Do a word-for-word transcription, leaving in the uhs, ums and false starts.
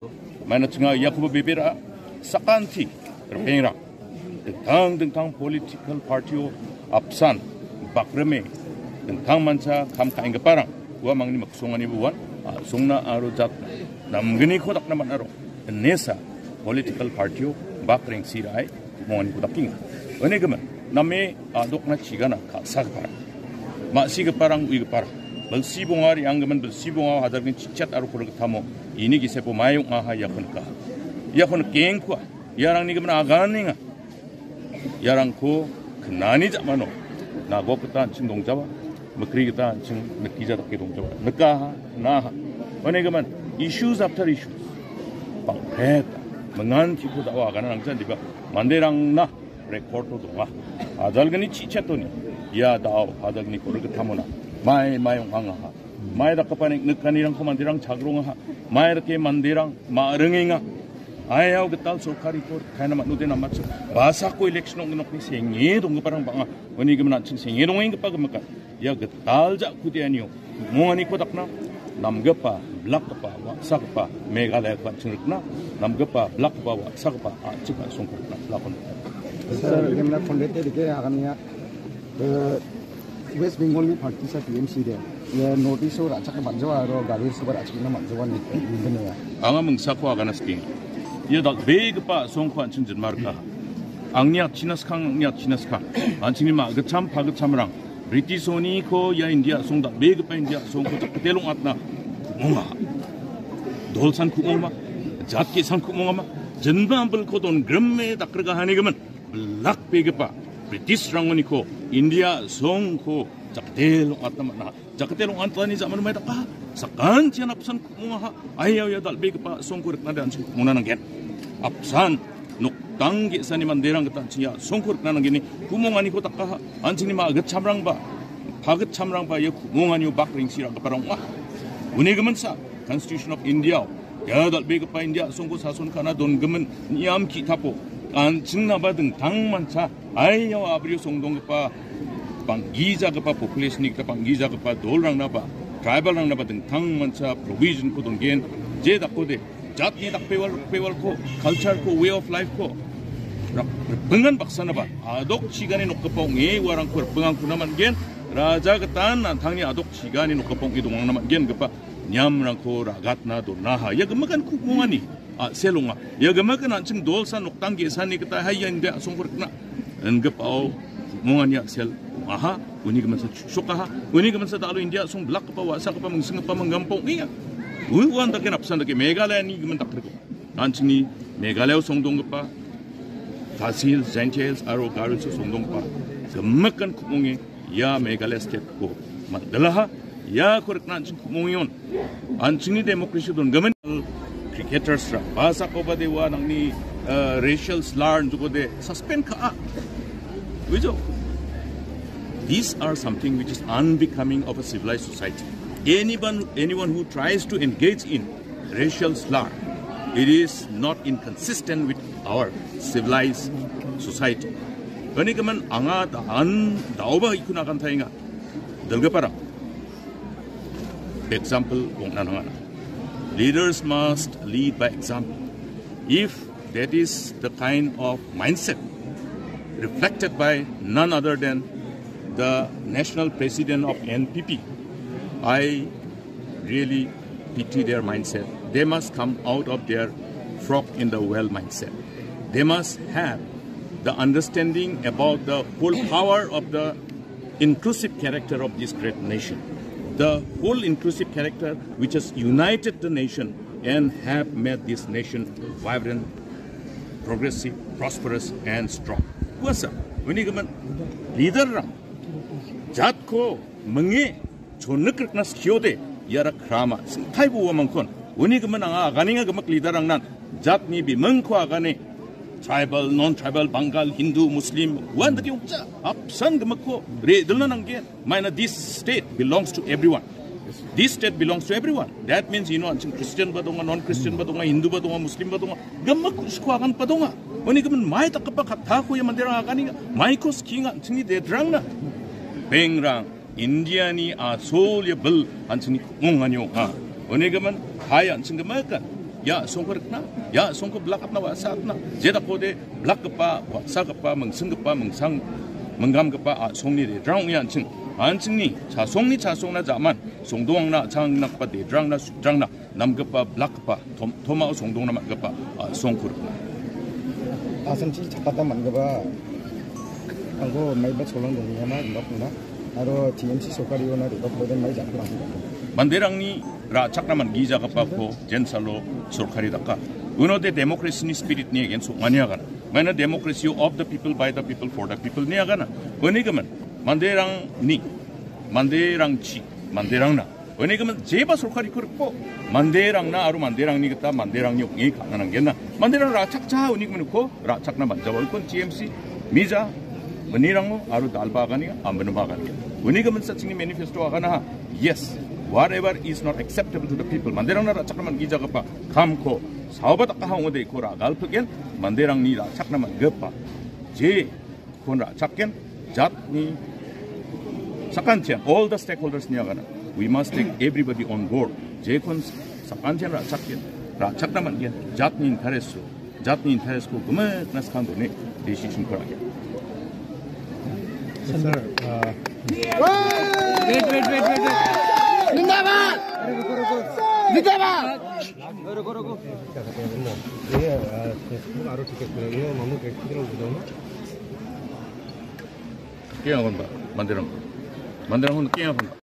Maina chinga iakoba bebera sakanti ripengrang. Dingtang dingtang political party-o apsan bakrime dingtangmancha kam ka·enggiparang ua mangni miksonganibo uan a·songna aro jatna namgniko dakna man·aro inesa political party-o bakrengsi ra·e ku·monganiko dakenga. Uni gimin, name a·dokna chigana ka·sagiparang, ma·sigiparang, uigiparang, bilsi bonga re·anggimin bilsi bonga hajargni chichat aro korigittamo ini gisepo mae ong·aha iako nikaha. Iako nikengkua, iarangni gimin aganenga. Iarangko knani ja·mano nagok gita an·ching dongjaba, mikri gita an·ching nikgija dake dongjaba. Nikaha, knaha. Uni gimin, issues after issues. Bang·peta, mingantiko da·o agana nangja, diba? Manderangna record-o donga. Ajalgni chichetoni, ia da·o, ajalgni korigitamona. Mai, mai ong·angaha. Mai dakgipa nik-, nikanirangko manderang chagrongaha. Mai dake manderang ma·ringenga. Aiao gital sorkariko kaina man·ode namacha. Basako election ong·ginokni senge donggiparang bang·a. Uni gimin an·ching senge dongenggipa gimikan. Ia gital ja·kudeanio monganiko dakna namgipa, blakgipa, wa·sagipa Meghalayako an·ching rikna, namgipa, blakgipa, wa·sagipa a·chik a·songko rikna lakon. Sir, ngemna kondete dike agamnya, eh, West Bengal ni parti sa T M C de, ya, notice-o ra·chakna man·jawa aro gari soba ra·chakna man·jawa ni, ni. Anga mingsako agana skenga. Ia dal·begipa a·songko an·ching jinmarika. Angni atchina skang, angni atchina skang. An·chingni ma·gitcham pagitchamrang British-oniko ia India a·song, dal·begipa India a·songko jakbite long·atna ku·monga. Dolsan ku·mongma, jat ge·san ku·mongama, jinma ambilko dongrime dakgrigahanigimin, blakbegipa British-rangoniko India a·songko jakbite long·atna man·a. Jakate long·antani ja·mano mai daka. Sakantian apsan ku·mongaha. Aia, aia, dal·begipa songko rikna de an·ching ku·mona nanggen. Apsan noktang ge·sani manderang gita an·ching ia songko rikna nanggeni ku·monganiko dakaha. An·chingni ma·gitchamrangba, pagitchamrangba ia ku·monganio bak rengsi ra·giparang ong·a. Uni giminsa, Constitution of India-o ia dal·begipa India a·songko sason ka·na dongimin niam ki·tapo an·chingnaba dingtangmancha aio a·brio songdonggipa bang·gijagipa population-ni gita bang·gijagipa dolrangnaba, tribal-rangnaba dingtangmancha provision-ko dongen, je dakode jatni dakpewal, rikpewalko, culture-ko, way of life-ko rak-, ripingan baksanaba adok chigani nokgipa ong·e uarangko ripingangkuna man·gen, raja gitan an·tangni adok chigani nokgipa ong·e dongangna man·gengipa niamrangko ra·gatna donaha. Ia gimikan ku·mongani a·sel ong·a. Ia gimikan an·ching dolsa noktang ge·sani gita hai ia inde a·songko rikna ingipao ku·mongani a·sel ong·aha. Uni giminsa chu·sokaha. Uni giminsa dalo India a·song blakgipa, wa·sagipa, mingsinggipa, minggipa ong·enga. Ui uan dake napsan dake Meghalayani gimin dakgriko. An·chingni Meghalaya-o songdonggipa Khasi Hills, Jaintia Hills aro Garo Hills-o songdonggipa gimikan ku·monge ia Meghalaya state-ko man·dilaha. Iako rikna an·ching ku·mongengon an·chingni democracy dongimin cricketers-ra basakoba de ua nangni, eh, racial slur-ko de suspend ka·a. Bujo? These are something which is unbecoming of a civilized society. Anyone, anyone who tries to engage in racial slur, it is not inconsistent with our civilized society. Uni gimin anga da-, an daoba ikuna agantaenga. Dilgiparang. Example ong·na nangana. Leaders must lead by example. If that is the kind of mindset reflected by none other than the national president of N P P, I really pity their mindset. They must come out of their frog in the well mindset. They must have the understanding about the whole power of the inclusive character of this great nation. The whole inclusive character which has united the nation and have made this nation vibrant, progressive, prosperous and strong. Uasa, uni gimin leader-rang jatko minge chonik rikna skiode iara krama singtaibo uamangkon. Uni gimin anga aganenga gimik leader-rangnan jatni bimingko agane, tribal, non-tribal, Bangal, Hindu, Muslim, uan dake ong·ja, apsan gimikko re·dilna nanggen. Maina this state belongs to everyone. This state belongs to everyone. That means, you know, an·ching Christian ba donga, non-Christian ba donga, Hindu ba donga, Muslim ba donga, gimik ku·siko aganba donga. Uni gimin mai dakgipa kattako ia manderang aganenga, maiko skinga an·chingni leader-rangna. Bengrang, India-ni a·sol ia bil an·chingni ku·mongani ong·a. Uni gimin, hai an·ching gimikan. Ia a·songko rikna, ia a·songko blakatna, wa·satna, jedakode blakgipa, wa·sagipa, mingsinggipa, mingsang, minggamgipa a·songni redrang ong·e an·ching, an·chingni chasongni chasongna ja·man, songdoangna, a·changnakgipa dedrangna, sudrangna, namgipa, blakgipa, tom-, tomao songdongna man·gipa, a, songko rikna. Asamchi chakata man·gipa angko maiba cholang dongenga ma rebakna, aro T M C sorkariona rebakode mai jakna. Manderangni ra·chakna man·gijagipako jensalo sorkari daka. Unode democracy-ni spirit-ni against ong·ani agana. Maina democracy of the people, by the people, for the people ni agana. Unigimin, manderangni, manderangchi, manderangna. Unigimin jeba sorkariko rikbo, manderangna aro manderangni gita manderangni ong·e ka·na nanggenna. Manderang ra·chakja unigimin uko ra·chakna man·jaba ukon T M C mija, minirango aro dalba agani, aminoba agani. Unigimin sa chingni manifesto agana ha. Yes, whatever is not acceptable to the people. Manderangna ra·chakna man·gijagipa kamko saoba dakaha ong·ode iko ra·galpikgen, manderangni ra·chakna man·gipa je kon ra·chakgen, jatni sakantian, all the stakeholders ni agana. We must take everybody on board. Jekon sakantian ra·chakgen, ra·chakna man·gen, jatni interest-o, jatni interest-ko gimikna skang done decision-ko ra·gen. Sir, uh, Wait, wait, wait, wait, wait. Zindabad! Zindabad! Ruko, ruko. Iya, uh, Facebook aro tiket kira. Iya, mamu kayak kira udah. Kaya apa, Pak? Mandirang. Mandirang pun kaya apa, Pak?